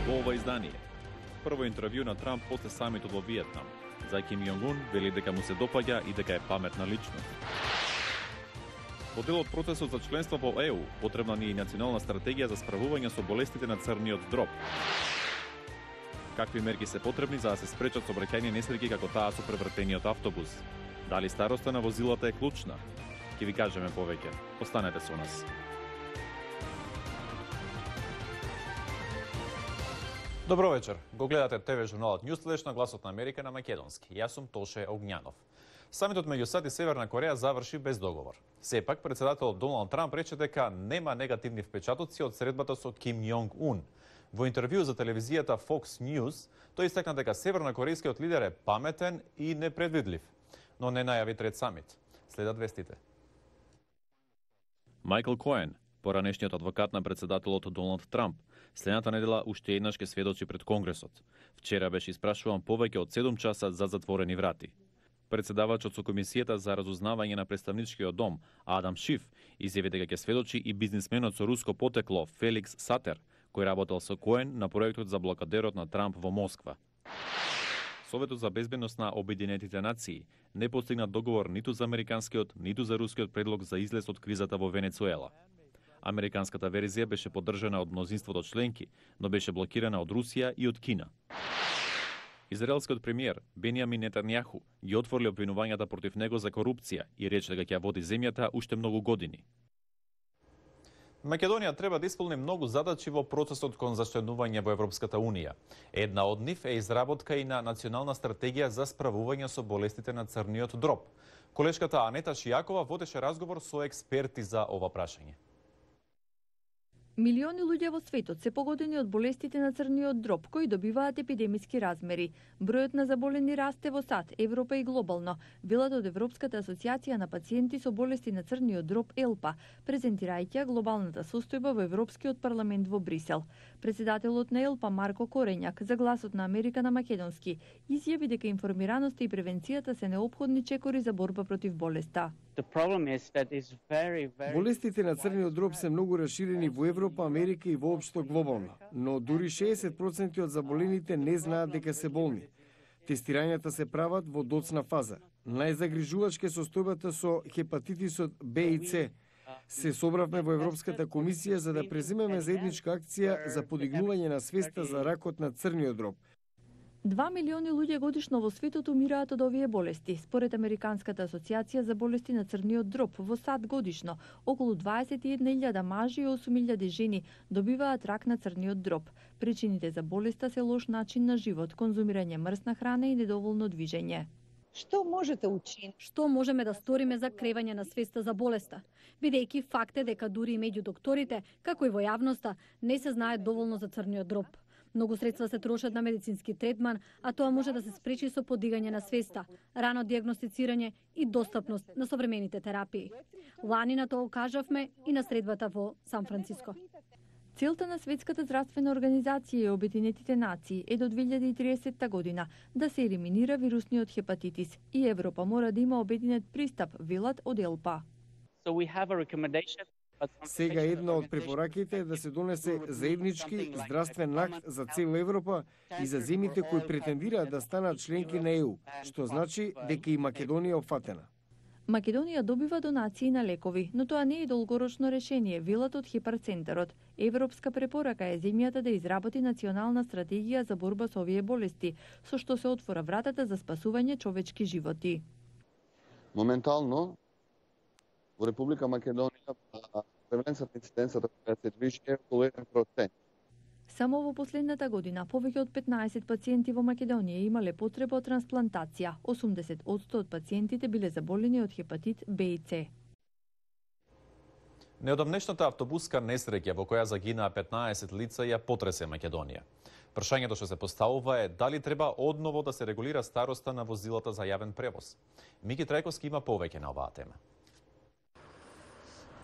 Во ова издание, прво интервју на Трамп после самитот во Виетнам. За Ким Јонг-ун вели дека му се допаѓа и дека е паметна личност. Во дел од процесот за членство во ЕУ, потребна ни е национална стратегија за справување со болестите на црниот дроб. Какви мерки се потребни за да се спречат сообраќајни несреќи како таа со превртениот автобус? Дали староста на возилата е клучна? Ќе ви кажеме повеќе. Останете со нас. Добро вечер. Го гледате ТВ журналот Newsflash на Гласот на Америка на македонски. Јас сум Тоше Огњанов. Самитот меѓу САД и Северна Кореја заврши без договор. Сепак, председателот Доналд Трамп рече дека нема негативни впечатоци од средбата со Ким Јонг-ун. Во интервју за телевизијата Fox News, тој истакна дека севернокорејскиот лидер е паметен и непредвидлив, но не најави трет самит. Следат вестите. Майкл Коен, поранешниот адвокат на председателот Доналд Трамп, следната недела уште еднаш ќе сведочи пред Конгресот. Вчера беше испрашуван повеќе од 7 часа за затворени врати. Председавачот со Комисијата за разузнавање на представничкиот дом, Адам Шиф, изјави дека ќе сведочи и бизнисменот со руско потекло Феликс Сатер, кој работел со Коен на проектот за блокадерот на Трамп во Москва. Советот за безбедност на Обединетите нации не постигна договор ниту за американскиот, ниту за рускиот предлог за излез од кризата во Венецуела. Американската верзија беше поддржана од мнозинството членки, но беше блокирана од Русија и од Кина. Израелскиот премиер Бенјамин Нетањаху ги отворили обвинувањата против него за корупција и рече дека ќе води земјата уште многу години. Македонија треба да исполни многу задачи во процесот кон зачленување во Европската Унија. Една од нив е изработка и на национална стратегија за справување со болестите на црниот дроб. Колешката Анета Шијакова водеше разговор со експерти за ова прашање. Милиони луѓе во светот се погодени од болестите на црниот дроб, кои добиваат епидемиски размери. Бројот на заболени расте во САД, Европа и глобално, велат од Европската асоциација на пациенти со болести на црниот дроб ЕЛПА, презентирајќи глобалната состојба во Европскиот парламент во Брисел. Председателот на ЕЛПА Марко Корењак за Гласот на Америка на македонски изјави дека информираноста и превенцијата се неопходни чекори за борба против болеста. Болестите на црниот дроб се многу расширени во Европа, Америка и воопшто глобално, но дури 60% од заболените не знаат дека се болни. Тестирањата се прават во доцна фаза. Најзагрижувачка е состојбата со хепатитисот Б и С. Се собравме во Европската комисија за да преземеме заедничка акција за подигнување на свеста за ракот на црниот дроб. 2 милиони луѓе годишно во светот умираат од овие болести. Според Американската асоциација за болести на црниот дроб, во САД годишно околу 21.000 мажи и 8.000 жени добиваат рак на црниот дроб. Причините за болеста се лош начин на живот, конзумирање мрсна храна и недоволно движење. Што можеме да сториме за кревање на свеста за болеста? Бидејќи факт е дека дури и меѓу докторите, како и во јавноста, не се знае доволно за црниот дроб. Многу средства се трошат на медицински третман, а тоа може да се спречи со подигање на свеста, рано дијагностицирање и достапност на современите терапии. Лани на тоа кажавме и на средбата во Сан Франциско. Целта на Светската здравствена организација и Обединетите нации е до 2030 година да се елиминира вирусниот хепатитис и Европа мора да има обединет пристап, велат од ЕЛПА. Сега една од препораките е да се донесе заеднички здравствен акт за цела Европа и за земјите кои претендираат да станат членки на ЕУ, што значи дека и Македонија е опфатена. Македонија добива донации на лекови, но тоа не е долгорочно решение, велат од Хепар-центарот. Европска препорака е земјата да изработи национална стратегија за борба со овие болести, со што се отвора вратата за спасување човечки животи. Моментално во Република Македонија преваленцата инциденцата која се движи е околу 1%. Само во последната година повеќе од 15 пациенти во Македонија имале потреба од трансплантација. 80% од пациентите биле заболени од хепатит Б и С. Неодамнешната автобуска несреќа во која загинаа 15 лица ја потресе Македонија. Прашањето што се поставува е дали треба одново да се регулира староста на возилата за јавен превоз. Мики Трајковски има повеќе на оваа тема.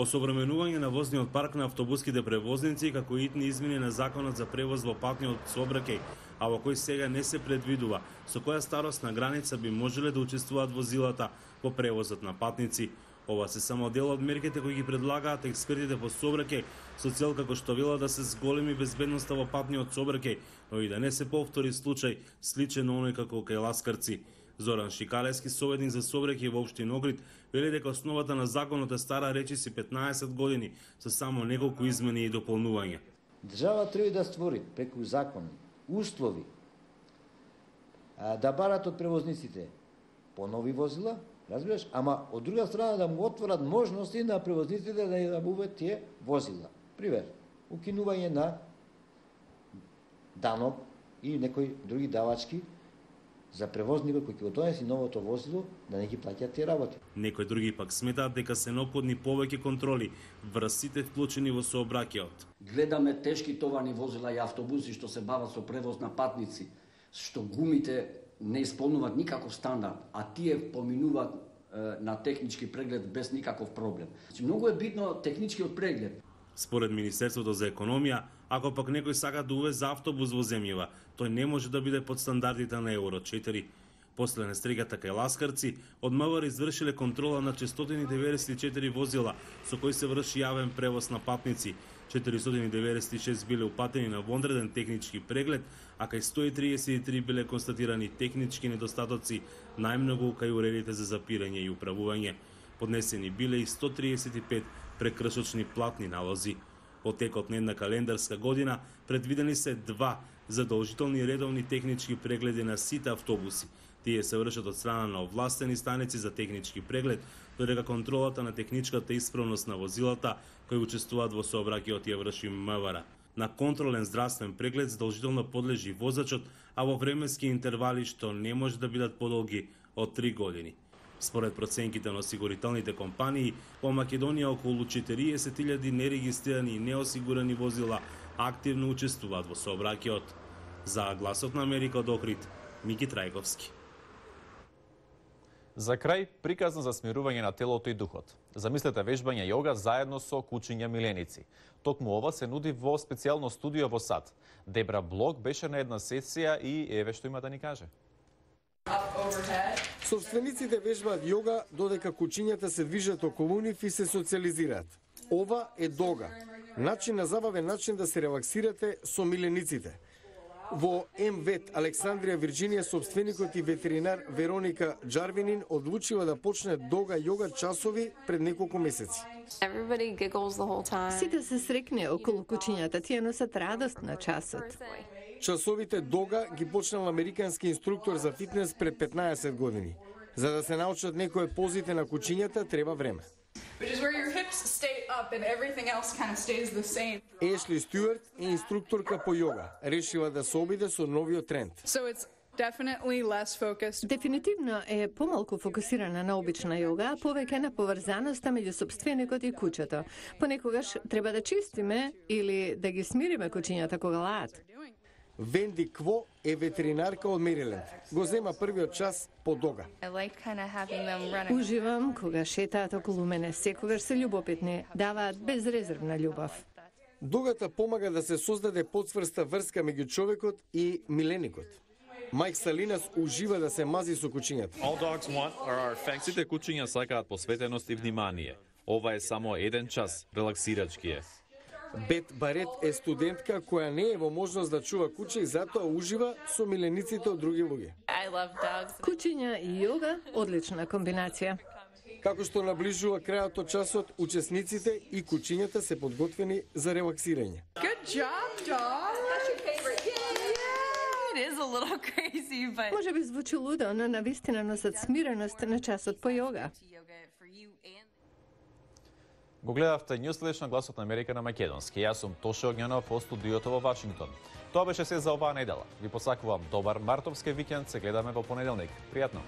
Осовременување на возниот парк на автобуските превозници како и итни измени на законот за превоз во патниот сообраќај, а во кој сега не се предвидува со која старосна граница би можеле да учествуваат возилата во превозот на патници. Ова се само дел од мерките кои ги предлагаат експертите по сообраќај со цел како што велат да се зголеми безбедноста во патниот сообраќај, но и да не се повтори случај сличен на оној како кај Ласкарци. Зоран Шикалевски, советник за сообраќај во општина Огрид, вели дека основата на законот е стара речиси 15 години со само неколку измени и дополнувања. Држава треба да створи преку закони услови да барат од превозниците понови возила, разбираш, ама од друга страна да му отворат можности на превозниците да ја набавуваат тие возила. Пример, укинување на данок и некои други давачки за превозникот кој ќе го донеси новото возило да не ги плаќаат тие работи. Некои други пак сметаат дека се неопходни повеќе контроли врз сите вклучени во сообраќајот. Гледаме тешки товарни возила и автобуси што се бават со превоз на патници, што гумите не исполнуваат никаков стандард, а тие поминуваат на технички преглед без никаков проблем. Значи, многу е битно техничкиот преглед. Според Министерството за економија, ако пак некој сака да увезе автобус во земјава, тој не може да биде под стандардите на Евро 4. После нестрегата кај Ласкарци, од МВР извршиле контрола на 494 возила со кои се врши јавен превоз на патници. 496 биле упатени на вонреден технички преглед, а кај 133 биле констатирани технички недостатоци, најмногу кај уредите за запирање и управување. Поднесени биле и 135 прекршочни платни налози. Во текот на една календарска година предвидени се 2 задолжителни редовни технички прегледи на сите автобуси. Тие се вршат од страна на овластени станици за технички преглед, додека контролата на техничката исправност на возилата кои учествуваат во сообраќајот ја врши МВР. На контролен здравствен преглед задолжително подлежи возачот, а во временски интервали што не може да бидат подолги од 3 години. Според проценките на осигурителните компании, во Македонија околу 40.000 нерегистрирани и неосигурани возила активно учествуваат во сообраќајот. За Гласот на Америка од Охрид, Мики Трајковски. За крај, приказна за смирување на телото и духот. Замислете вежбање јога заедно со кучиња миленици. Токму ова се нуди во специјално студио во САД. Дебра Блок беше на една сесија и еве што има да ни каже. Собствениците вежбаат јога додека кучињата се движат околу нив и се социализираат. Ова е дога. Начин на забавен начин да се релаксирате со милениците. Во МВЕТ Александрија, Вирџинија, собственикот и ветеринар Вероника Джарвинин одлучила да почне дога јога часови пред неколку месеци. Сите се срекне околу кучињата, тие носат радост на часот. Часовите дога ги почнал американски инструктор за фитнес пред 15 години. За да се научат некои позите на кучињата треба време. Ешли Стюарт е инструкторка по јога. Решила да се обиде со новиот тренд. Дефинитивно е помалку фокусирана на обична јога, а повеќе на поврзаноста меѓу собственикот и куќето. Понекогаш треба да чистиме или да ги смириме кучињата кога лаат. Венди Кво е ветеринарка од Мериленд. Го зема првиот час по дога. Уживам кога шетаат околу мене, секогаш се љубопитни, даваат безрезервна љубов. Догата помага да се создаде подсврста врска меѓу човекот и миленикот. Мајк Салинас ужива да се мази со кучињата. Сите кучиња сакаат посветеност и внимание. Ова е само еден час, релаксирачки е. Бет Барет е студентка која не е во можност да чува куче и затоа ужива со милениците од други луѓе. Кучиња и јога – одлична комбинација. Како што наближува крајот од часот, учесниците и кучињата се подготвени за релаксирање. Good job, dog. That's your favorite. Yeah, it is a little crazy, but Може би звучи лудо, но навистина носат смиреност на часот по јога. Го гледавте Ньюслеш на Гласот на Америка на македонски. Јас сум Тоше Огњанов во студиото во Вашингтон. Тоа беше се за оваа недела. Ви посакувам добар мартовски викенд, се гледаме во понеделник. Пријатно!